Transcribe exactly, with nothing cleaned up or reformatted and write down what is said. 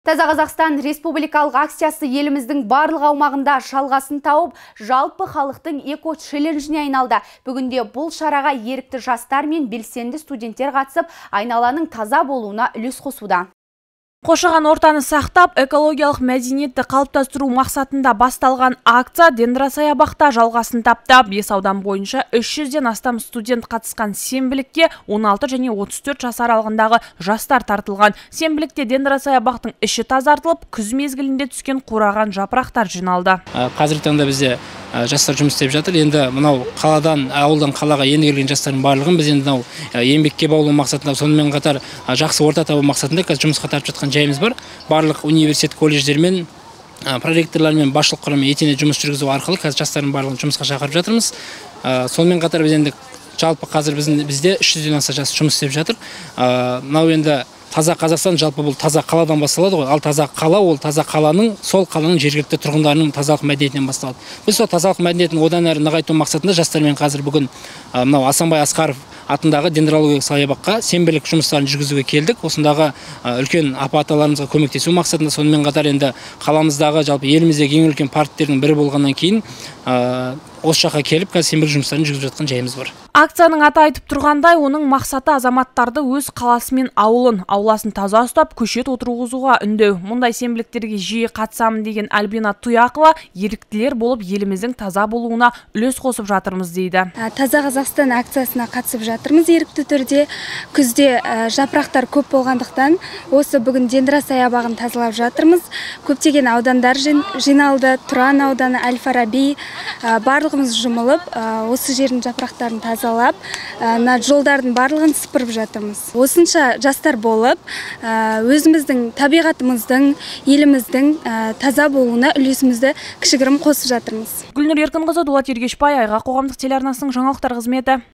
Таза Қазақстан республикалық акциясы еліміздің барлық аумағында жалғасын тауып, жалпы халықтың эко-челленджіне айналды. Бүгінде бұл шараға ерікті жастар мен белсенді студенттер қатысып, айналаның таза болуына үлес қосуда. Қоршаған ортаны сақтап, экологиялық мәдениетті қалыптастыру мақсатында басталған акция Дендрасаябақта жалғасын тапты. Бес аудан бойынша үш жүзден астам студент қатысқан сенбілікке он алты және отыз төрт жас аралығындағы жастар тартылған. Сенбілікте Дендрасаябақтың іші тазартылып, күз мезгілінде түскен қураған жапырақтар жиналды. Қазіргі таңда бізде жастар жұмыс істеп жатыр. Енді мынау қаладан, ауылдан қалаға енді келген жастардың барлығын біз енді мынау еңбекке баулу мақсатында, сонымен қатар жақсы орта табу мақсатында қазір жұмысқа тартып жатқан жайымыз бар. Барлық университет колледждермен, проректорлармен, басшылық құраммен етене жұмыс жүргізу арқылы қазір жастардың барлығын жұмысқа шақырып жатырмыз. Сонымен қатар біз енді жалпы қазір бізде үш жүзден аса жас жұмыс істеп жатыр. Мынау енді таза Қазақстан жалпы бұл таза қаладан басталады ғой. Ал таза қала ол таза қаланың, сол қаланың жергілікті тұрғындарының тазалық мәдениетінен басталады. Біз сол тазалық мәдениетін одан әрі нығайту мақсатында жастармен қазір бүгін мынау Асанбай Асқаров атындағы дендрологиялық саябаққа сенбілік жұмыстарын жүргізуге келдік. Осындағы үлкен апа-аталарымызға көмектесу мақсатында, сонымен қатар енді қаламыздағы жалпы еліміздегі ең үлкен парктердің бірі болғаннан кейін осы жаққа келіп қазір сенбілік жұмыстарын жүргізіп жатқан жайымыз бар. Акцияның аты айтып тұрғандай, оның мақсаты азаматтарды өз қаласы мен ауылын, ауласын таза ұстап, көшет отырғызуға үндеу. Мұндай сенбіліктерге жиі қатысамын деген Альбина Тұяқова еріктілер болып еліміздің таза болуына үлес қосып жатырмыз дейді. Таза Қазақстан акциясына қатысып жатырмыз ерікті түрде. Күзде жапырақтар көп болғандықтан осы бүгін Дендрасаябағын тазалап жатырмыз. Көптеген аудандар жиналды. Тұран ауданы, Әл-Фараби, барлығымыз жұмылып, осы жердің жапырақтарын тазалап, жолдардың барлығын сыпырып жатырмыз. Осынша жастар болып, өзіміздің табиғатымыздың, еліміздің таза болуына үлесімізді кішігірім қосып жатырмыз. Гүлнұр Еркінқызы, Дулат Ергешбай, Айға қоғамдық телеарнасының жаңалықтар қызметі.